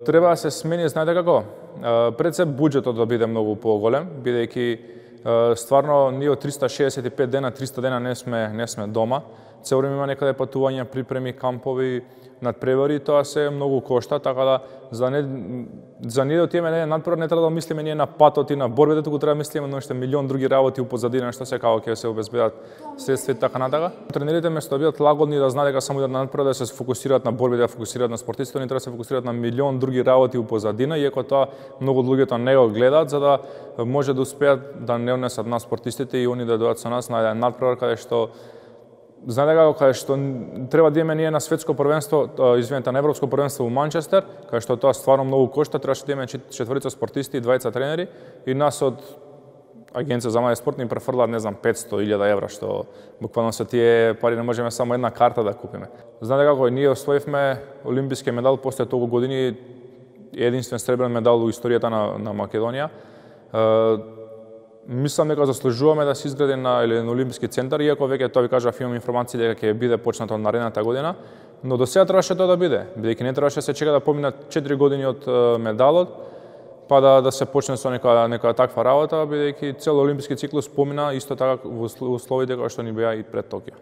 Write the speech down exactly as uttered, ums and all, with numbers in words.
Треба да се смени, знаете како? Пред се буџетот да биде многу поголем, бидејќи стварно ние од триста шеесет и пет дена, триста дена не сме не сме дома. Цело време има некаде патувања, припреми, кампови, надпревари, тоа се многу кошта, така да за не за ние да отидеме не надпревар не треба да мислиме ние на патот и на борбите, туку треба да мислиме на уште милион други работи упозадина што се како ќе се обезбедат средства и така натака. Тренерите место да бидат лагодни да знаат дека само идат на надпревар да се фокусираат на борбите, да фокусираат на спортистите, они треба да се фокусираат на милион други работи упозадина, иако тоа многу луѓето не го гледаат за да може да успеат да не однесат на спортистите и они да дојдат со нас на еден надпревар каде што знаете како, каде што треба да имаме ние на светско првенство, извинете, на европско првенство во Манчестер, каде што тоа стварно многу кошта, требаше да имаме четворица спортисти и двајца тренери и нас од Агенција за млади спорт ни префрлаат, не знам, петсто илјади евра, што буквално со тие пари не можеме само една карта да купиме. Знаете како, ние освоивме олимписки медал после толку години, единствен сребрен медал во историјата на, на Македонија. Мислам дека заслужуваме да се изгради на, или на Олимписки центар, иако веќе тоа ви кажав, имам информации дека ќе биде почнато наредната година, но до сега требаше тоа да биде, бидејќи не требаше да се чека да поминат четири години од медалот, па да, да се почне со нека, нека таква работа, бидејќи цел олимписки циклус помина исто така во условите кои што ни беа и пред Токио.